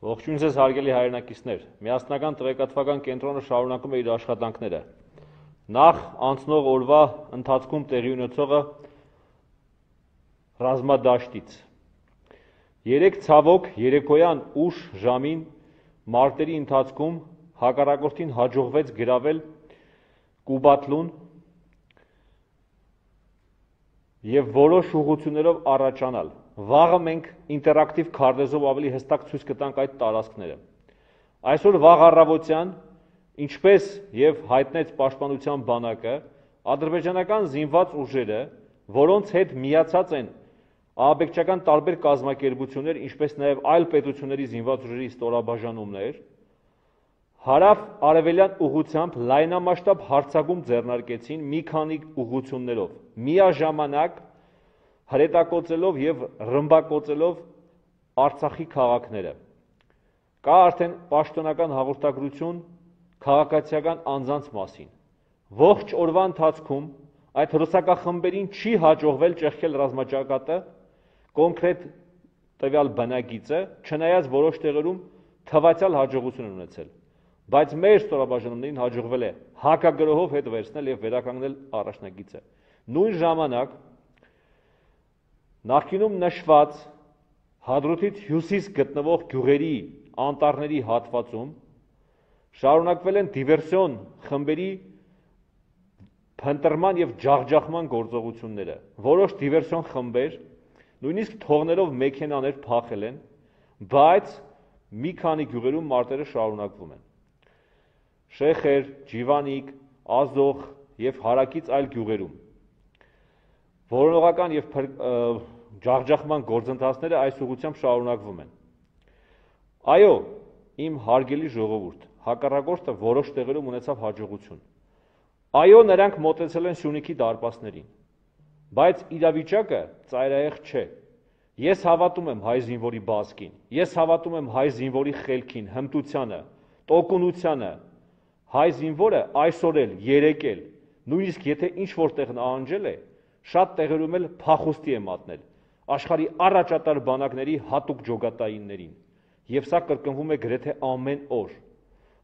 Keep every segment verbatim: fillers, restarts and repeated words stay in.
Ողջույն ձեզ հարգելի հայրենակիցներ, միասնական տեղեկատվական կենտրոնը շարունակում է իր աշխատանքները։ Նախ անցնող օրվա ընթացքում տեղի ունեցողը ռազմադաշտից։ Երեք ցավոք երեկոյան ուշ ժամին մարտերի ընթացքում հակառակորդին հաջողվեց գրավել Կուբատլուն և որոշ ուղղություններով առաջանալ։ Վաղը մենք ինտերակտիվ քարտեզով ավելի հստակ ցույց կտանք այդ տարածքները։ Այսօր վաղ առավոտյան, ինչպես եւ հայտնեց պաշտպանության բանակը, ադրբեջանական զինված ուժերը, որոնց հետ միացած են ահաբեկչական տարբեր կազմակերպություններ, ինչպես նաեւ այլ պետությունների զինված ուժերի ստորաբաժանումներ, հարավ-արևելյան ուղղությամբ լայնամասշտաբ հարձակում ձեռնարկեցին մի քանի ուղղություններով, միաժամանակ հրետակոծելով եւ ռմբակոծելով Արցախի քաղաքները։ Կա արդեն պաշտոնական հաղորդագրություն քաղաքացիական անձանց մասին։ Ողջ օրվա ընթացքում այդ հրոսակախմբերին չի հաջողվել ճեղքել ռազմաճակատը, կոնկրետ տվյալ բնագիծը, չնայած որոշ տեղերում թվացյալ հաջողություն են ունեցել, բայց մեր ստորաբաժանումներին հաջողվել է հակագրոհով հետ վերցնել եւ վերականգնել առաջնագիծը։ Նույն ժամանակ նախկինում նշված Հադրութից հյուսիս գտնվող գյուղերի անտառների հատվածում շարունակվել են դիվերսիոն խմբերի փնտրման եւ ջախջախման գործողությունները։ Որոշ դիվերսիոն խմբեր նույնիսկ թողներով մեքենաներ փախել են, բայց մի քանի գյուղերում մարտերը շարունակվում են։ Շեխեր, Ջիվանիկ, Ազոխ եւ հարակից այլ գյուղերում որոնողական եւ ջախջախման գործընթացները այս ուղղությամբ շարունակվում են։ Այո, իմ հարգելի ժողովուրդ, հակառակորդը որոշ տեղերում ունեցավ հաջողություն։ Այո, նրանք մոտեցել են Սյունիքի դարպասներին, բայց իրավիճակը ծայրահեղ չէ։ Ես հավատում եմ հայ զինվորի բազկին, ես հավատում եմ հայ զինվորի խելքին, հմտությանը, տոկունությանը։ Հայ զինվորը այսօր էլ, երեկ էլ, նույնիսկ եթե ինչ-որ տեղ նահանջել է, շատ տեղերում էլ փախուստի է մատնել աշխարհի առաջատար բանակների հատուկ ջոկատայիններին, եւ սա կրկնվում է գրեթե ամեն օր։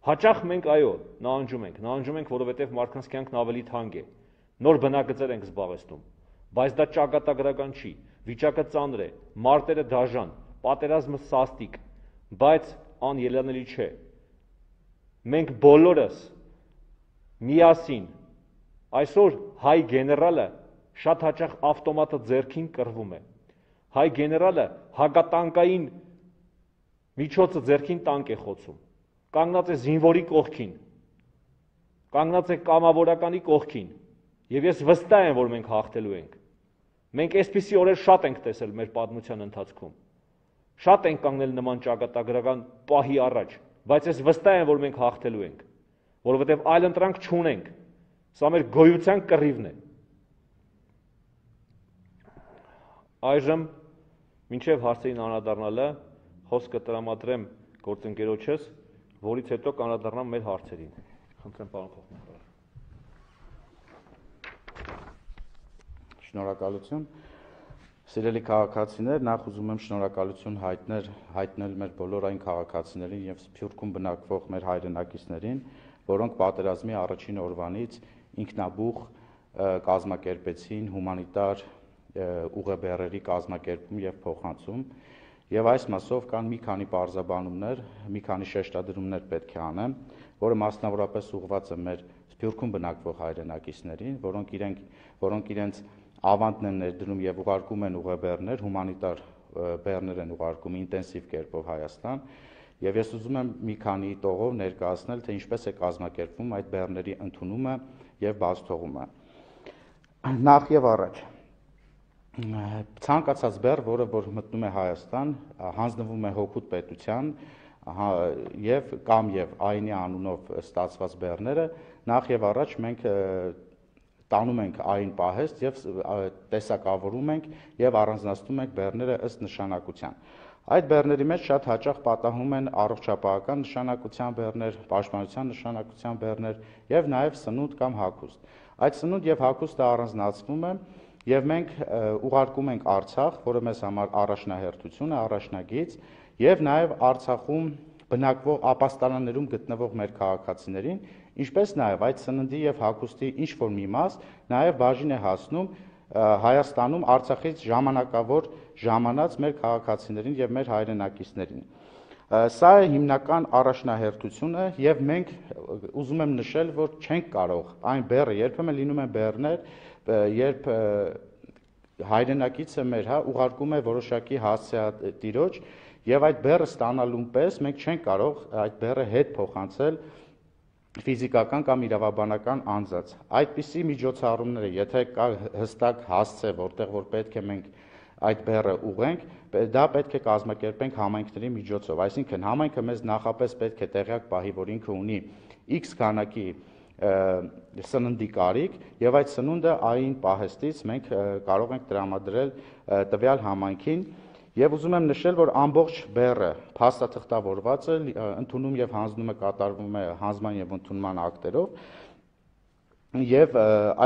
Հաճախ մենք այո, նահանջում ենք, նահանջում ենք, որովհետեւ մարդկանց կյանքն ավելի թանկ է, նոր բնակգծեր ենք զբաղեցնում, բայց դա ճակատագրական չի, վիճակը ծանր է, մարտերը դաժան, պատերազմը սաստիկ, բայց անելանելի չէ։ Մենք բոլորս միասին, այսօր հայ գեներալը շատ հաճախ ավտոմատը ձեռքին կռվում է, հայ գեներալը հակատանկային միջոցը ձեռքին տանկ է խոցում, կանգնած է զինվորի կողքին, կանգնած է կամավորականի կողքին, եւ ես վստահ եմ, որ մենք հաղթելու ենք։ Մենք այսպիսի օրեր շատ ենք տեսել մեր պատմության ընթացքում, շատ ենք կանգնել նման ճակատագրական պահի առաջ, բայց ես վստահ եմ, որ մենք հաղթելու ենք, որովհետև այլ ընտրանք չունենք, սա մեր գոյության կռիվն է։ Այժմ, մինչև հարցերին անդրադառնալը, խոսքը տրամադրեմ գործընկերոջս, որից հետո կանդրադառնամ մեր հարցերին։ Խնդրեմ, պարոն փոխնախարար։ Շնորհակալություն։ Սիրելի քաղաքացիներ, նախ ուզում եմ շնորհակալություն հայտնել, հայտնել մեր բոլոր այն քաղաքացիներին եւ Սփյուռքում բնակվող մեր հայրենակիցներին, որոնք պատերազմի առաջին օրվանից ինքնաբուխ կազմակերպեցին հումանիտար ուղեբեռերի կազմակերպում եւ փոխանցում, եւ այս մասով կան մի քանի պարզաբանումներ, մի քանի շեշտադրումներ պետք է անեմ, որը մասնավորապես ուղղված է մեր Սփյուռքում բնակվող հայրենակիցներին, որոնք իրենք, որոնք իրենց ավանդն են ներդնում եւ ուղարկում են ուղեբեռներ, հումանիտար բեռներ են ուղարկում ինտենսիվ կերպով Հայաստան, եւ ես ուզում եմ մի քանի տողով ներկայացնել, թե ինչպես է կազմակերպվում այդ բեռների ընդունումը եւ բացթողումը։ Նախ եւ առաջ ցանկացած բեռ, որը որ մտնում է Հայաստան, հանձնվում է հօգուտ պետության եւ կամ եւ այնի անունով ստացված բեռները, նախ եւ առաջ մենք տանում ենք այն պահեստ եւ տեսակավորում ենք եւ առանձնացնում ենք բեռները ըստ նշանակության։ Այդ բեռների մեջ շատ հաճախ պատահում են առողջապահական նշանակության բեռներ, պաշտպանության նշանակության բեռներ եւ նաեւ սնունդ կամ հագուստ։ Այդ սնունդ եւ հագուստը առանձնացվում է եւ մենք ուղարկում ենք Արցախ, որը մեզ համար առաջնահերթություն է, առաջնագիծ, եւ նաեւ Արցախում բնակվող ապաստարաններում գտնվող մեր քաղաքացիներին, ինչպես նաեւ այդ սննդի եւ հագուստի ինչ որ մի մաս նաեւ բաժին է հասնում Հայաստանում Արցախից ժամանակավոր ժամանած մեր քաղաքացիներին եւ մեր հայրենակիցներին։ Սա է հիմնական առաջնահերթությունը եւ մենք ուզում եմ նշել, որ չենք կարող այն բեռը, երբեմն լինում են բեռներ, երբ հայրենակիցը մեր հա ուղարկում է որոշակի հասցեատիրոջ եւ այդ բեռը ստանալուն պես մենք չենք կարող այդ բեռը հետ փոխանցել ֆիզիկական կամ իրավաբանական անձած։ Այդպիսի միջոցառումները, եթե կա հստակ հասցե, որտեղ որ պետք է մենք այդ բեռը ուղենք, դա պետք է կազմակերպենք համայնքների միջոցով, այսինքն համայնքը մեզ նախապես պետք է տեղյակ պահի, որ ինքը ունի X քանակի սննդի կարիք եւ այդ սնունդը այն պահեստից մենք կարող ենք տրամադրել տվյալ համայնքին եւ ուզում եմ նշել, որ ամբողջ բեռը փաստաթղթավորված է, ընդունում եւ հանձնումը կատարվում է հանձնման եւ ընդունման ակտերով եւ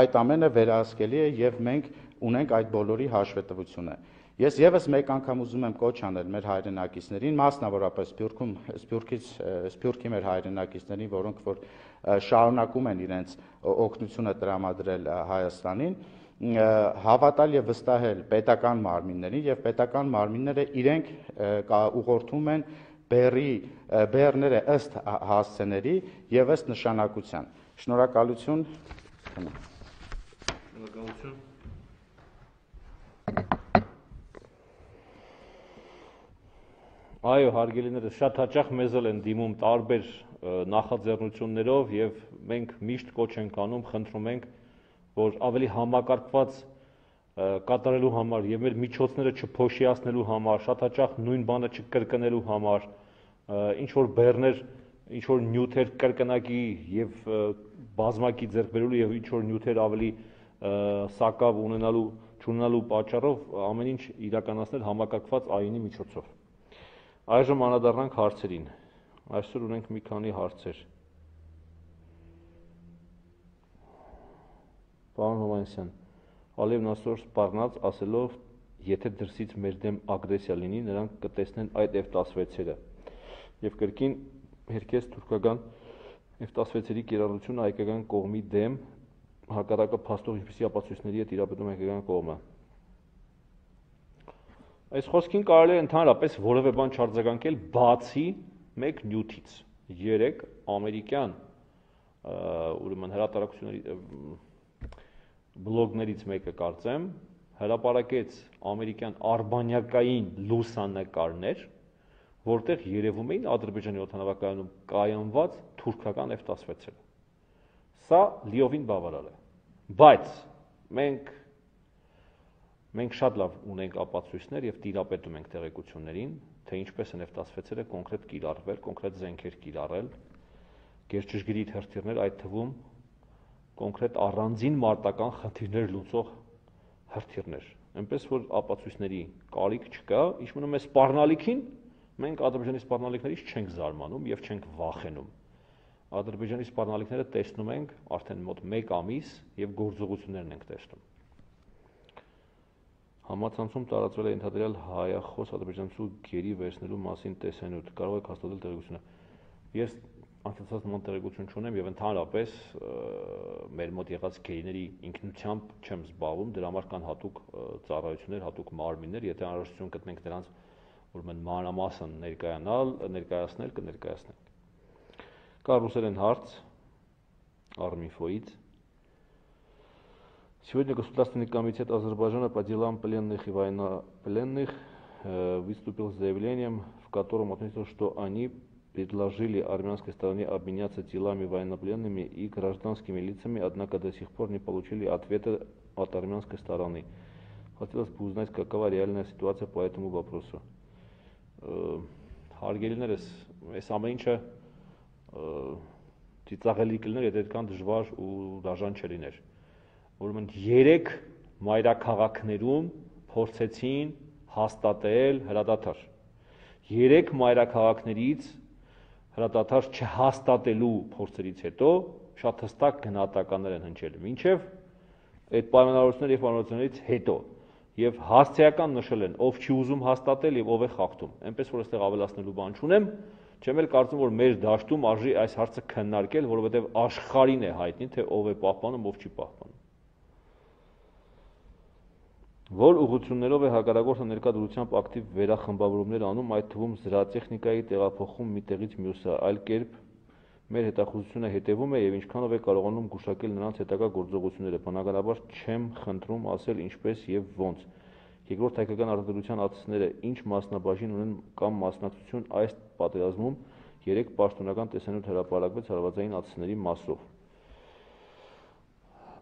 այդ ամենը վերահսկելի է եւ մենք ունենք այդ բոլորի հաշվետվությունը։ Ես եւս մեկ անգամ ուզում եմ կոչ անել մեր հայրենակիցներին, մասնավորապես Սփյուռքում, Սփյուռքից, Սփյուռքի մեր հայրենակիցներին, որոնք որ շարունակում են իրենց օգնությունը տրամադրել Հայաստանին, հավատալ եւ վստահել պետական մարմիններին եւ պետական մարմինները իրենք ուղղորդում են բեռի բեռները ըստ հասցեների եւ ըստ նշանակության։ Շնորհակալություն։ Շնորհակալություն։ Այո, հարգելիներս, շատ հաճախ մեզ էլ են դիմում տարբեր նախաձեռնություններով եւ մենք միշտ կոչ ենք անում, խնդրում ենք, որ ավելի համակարգված կատարելու համար եւ մեր միջոցները չփոշիացնելու համար, շատ հաճախ նույն բանը չկրկնելու համար, ինչ որ բեռներ, ինչ որ նյութեր կրկնակի եւ բազմակի ձեռք բերելու եւ ինչ որ նյութեր ավելի սակավ ունենալու, չունենալու պատճառով ամեն ինչ իրականացնել համակարգված այինի միջոցով։ Այժմ անդրադառնանք հարցերին։ Այսօր ունենք մի քանի հարցեր։ Պարոն Հովհաննիսյան, Ալիևն այսօր սպառնաց ասելով, եթե դրսից մեր դեմ ագրեսիա լինի, նրանք կտեսնեն այդ F տասնվեցերը եւ կրկին հերքեց թուրքական F տասնվեցերի կիրառությունը հայկական կողմի դեմ, հակառակը փաստող ինչպիսի ապացույցների է տիրապետում հայկական կողմը։ Այս խոսքին կարելի է ընդհանրապես որևէ բան չարձագանքել, բացի մեկ նյութից։ Երեք ամերիկյան ուրեմն հրատարակությունների բլոգներից մեկը կարծեմ հրապարակեց ամերիկյան արբանյակային լուսանկարներ, որտեղ երևում էին Ադրբեջանի օդանավակայանում կայանված թուրքական F տասնվեցերը։ Սա լիովին բավարար է, բայց մենք մենք շատ լավ ունենք ապացույցներ եւ տիրապետում ենք տեղեկություններին, թե ինչպես են F տասնվեցերը կոնկրետ կիրառվել, կոնկրետ զենքեր կիրառել, գերճշգրիտ հրթիռներ, այդ թվում կոնկրետ առանձին մարտական խնդիրներ լուծող հրթիռներ, այնպես որ ապացույցների կարիք չկա, ինչ մնում է սպառնալիքին, մենք Ադրբեջանի սպառնալիքներից չենք զարմանում եւ չենք վախենում։ Ադրբեջանի սպառնալիքները տեսնում ենք արդեն մոտ մեկ ամիս եւ գործողություններն ենք տեսնում։ Համացանցում տարածվել է ընդհանրել հայախոս ադրբեջանցու գերի վերցնելու մասին տեսանյութ, կարող եք հաստատել տեղեկությունը։ Ես անցած նման տեղեկություն չունեմ եւ ընդհանրապես մեր մոտ եղած գերիների ինքնությամբ չեմ զբաղվում, դրա համար կան հատուկ ծառայություններ, հատուկ մարմիններ, եթե անհրաժեշտություն գտնենք դրանց ուրեմն մանրամասն ներկայանալ, ներկայացնել, կներկայացնենք։ Կա ռուսերեն հարց Arminfo-ից. Сегодня Государственный комитет Азербайджана по делам пленных и военнопленных выступил с заявлением, в котором отметил, что они предложили армянской стороне обменяться телами военнопленными и гражданскими лицами, однако до сих пор не получили ответа от армянской стороны. Хотелось бы узнать, какова реальная ситуация по этому вопросу. Հարգելիներս, այս ամեն ինչը ծիծաղելի կլիներ, եթե այդքան դժվար ու դաժան չլիներ։ Ուրեմն երեք մայրաքաղաքներում փորձեցին հաստատել հրադադար։ Երեք մայրաքաղաքներից հրադադար չհաստատելու փորձերից հետո շատ հստակ գնահատականներ են հնչել, մինչև այդ պայմանավորությունների եւ պայմանավորություններից հետո։ եւ հասցեական նշել են, ով չի ուզում հաստատել եւ ով է խախտում։ Այնպես որ այստեղ ավելացնելու բան չունեմ, չեմ էլ կարծում, որ մեր դաշտում արժի այս հարցը քննարկել, որովհետեւ աշխարհին է հայտնի, թե ով է պահպանում, ով չի պահպանում։ Որ ուղղություններով է հակառակորդը ներկա դրությամբ ակտիվ վերախմբավորումներ անում, այդ թվում զրահտեխնիկայի տեղափոխում մի տեղից մյուսը, այլ կերպ մեր հետախուզությունը հետևում է եւ ինչքանով է կարողանում գուշակել նրանց հետագա գործողությունները, բնականաբար չեմ խնդրում ասել ինչպես եւ ոնց։ Երկրորդ հայկական արտադրության ածսները ինչ մասնաբաժին ունեն կամ մասնակցություն այս պատերազմում երեք պաշտոնական տեսանյութ հրապարակվեց հարվածային ածսների մասով։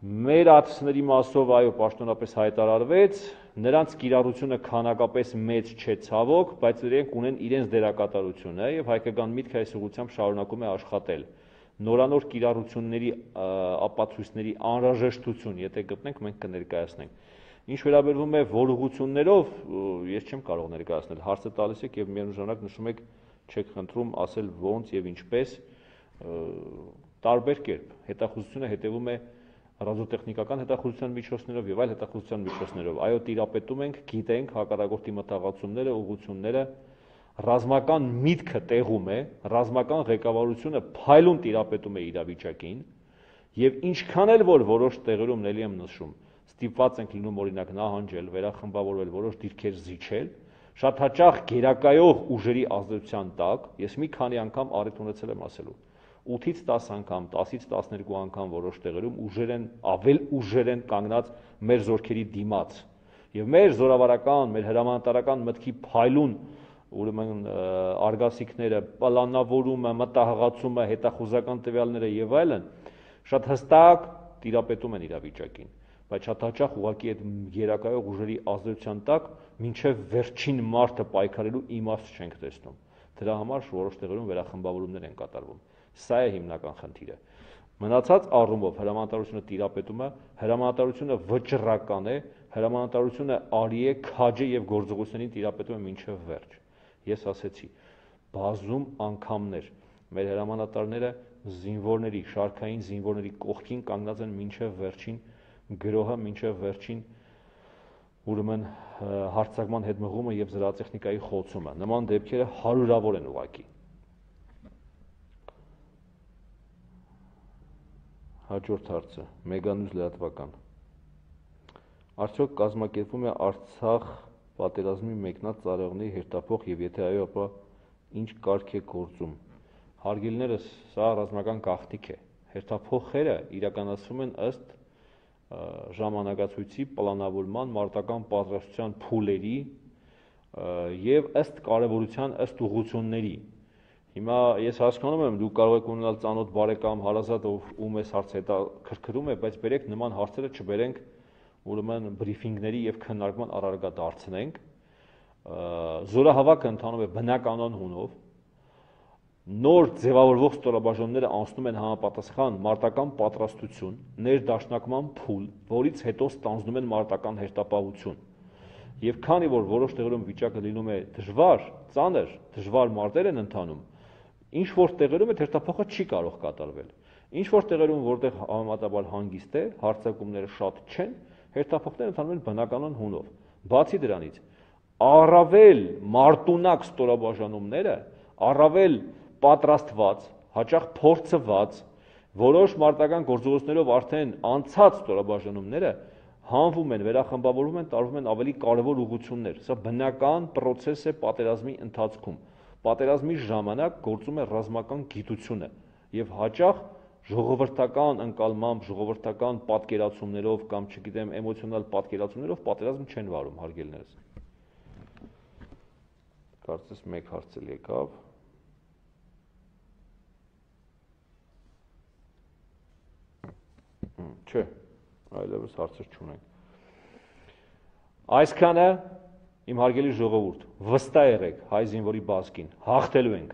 Մեր ածսների մասով այո պաշտոնապես հայտարարվեց, նրանց կիրառությունը քանակապես մեծ չէ ցավոք, բայց իրենք ունեն իրենց դերակատարությունը եւ հայկական միտքը այս ուղղությամբ շարունակում է աշխատել։ Նորանոր կիրառությունների ապացույցների անհրաժեշտություն, եթե գտնենք, մենք կներկայացնենք։ Ինչ վերաբերվում է որ ուղղություններով, ես չեմ կարող ներկայացնել, հարցը տալիս եք եւ միևնույն ժամանակ նշում եք, չեք խնդրում ասել ոնց եւ ինչպես, տարբեր կերպ հետախուզությունը հետևում է ռադիոտեխնիկական հետախուզության միջոցներով եւ այլ հետախուզության միջոցներով։ Այո, տիրապետում ենք, գիտենք հակառակորդի մտահղացումները, ուղղությունները, ռազմական միտքը տեղում է, ռազմական ղեկավարությունը փայլուն տիրապետում է իրավիճակին եւ ինչքան էլ որ որոշ տեղերում ելի եմ նշում, ստիպված ենք լինում օրինակ նահանջել, վերախմբավորվել, որոշ դիրքեր զիջել, շատ հաճախ գերակայող ուժերի ազդեցության տակ, ես մի քանի անգամ առիթ ունեցել եմ ասելու ութից տաս անգամ, տասից տասներկու անգամ որոշ տեղերում ուժեր են, ավել ուժեր են կանգնած մեր զորքերի դիմաց։ Եվ մեր զորավարական, մեր հրամանատարական մտքի փայլուն, ուրեմն արգասիքները, պլանավորումը, մտահղացումը, հետախուզական տվյալները եւ այլն շատ հստակ տիրապետում են իրավիճակին, բայց շատ հաճախ ուղղակի այդ գերակայող ուժերի ազդեցության տակ մինչեւ վերջին մարտը պայքարելու իմաստ չենք տեսնում։ Դրա համար որոշ տեղերում վերախմբավորումներ են կատարվում։ Սա է հիմնական խնդիրը։ Մնացած առումով հրամանատարությունը տիրապետում է, հրամանատարությունը վճռական է, հրամանատարությունը արի է, քաջ է եւ գործողություններին տիրապետում է մինչեւ վերջ։ Ես ասեցի, բազում անգամներ մեր հրամանատարները զինվորների, շարքային զինվորների կողքին կանգնած են մինչեւ վերջին գրոհը, մինչեւ վերջին ուրեմն հարձակման հետ մղումը եւ զրահտեխնիկայի խոցումը։ Նման դեպքերը հարյուրավոր են ուղղակի։ Հաջորդ հարցը, Մեգանյուզ լրատվական։ Արդյոք կազմակերպվում է Արցախ պատերազմի մեկնած ծառայողների հերթափոխ եւ եթե այո, ապա ինչ կարգ է գործում։ Հարգելիներս, սա ռազմական գաղտնիք է։ Հերթափոխերը իրականացվում են ըստ ժամանակացույցի պլանավորման, մարտական պատրաստության փուլերի եւ ըստ կարեւորության, ըստ ուղղությունների։ Հիմա ես հասկանում եմ, դուք կարող եք ունենալ ծանոթ բարեկամ, հարազատ, ում այս հարցը հետաքրքրում է, բայց բերեք նման հարցերը չբերենք, ուրեմն բրիֆինգների եւ քննարկման առարկա դարձնենք։ Զորահավաքը ընթանում է բնականon հունով։ Նոր ձևավորվող ստորաբաժանումները անցնում են համապատասխան մարտական պատրաստություն, ներդաշնակման փուլ, որից հետո ստանձնում են մարտական հերթապահություն։ Եվ քանի որ որոշ տեղերում վիճակը լինում է դժվար, ծանր, դժվար մարտեր են ընթանում, ինչ որ տեղերում այդ հերթափոխը չի կարող կատարվել։ Ինչ որ տեղերում, որտեղ համեմատաբար հանգիստ է, հարձակումները շատ չեն, հերթափոխները ընթանում են բնականon հունով։ Բացի դրանից, առավել մարտունակ ստորաբաժանումները, առավել պատրաստված, հաճախ փորձված, որոշ մարտական գործողություններով արդեն անցած ստորաբաժանումները հանվում են, վերախմբավորվում են, տարվում են ավելի կարևոր ուղղություններ։ Սա բնական process է պատերազմի ընթացքում։ Պատերազմի ժամանակ գործում է ռազմական գիտությունը եւ հաճախ ժողովրդական ընկալմամբ, ժողովրդական պատկերացումներով կամ չգիտեմ էմոցիոնալ պատկերացումներով պատերազմ չեն վարում, հարգելիներս։ Կարծես մեկ հարց էլ եկավ։ Չէ, այլևս հարցեր չունենք։ Այսքանը իմ հարգելի ժողովուրդ, վստահ եղեք հայ զինվորի բազկին, հաղթելու ենք։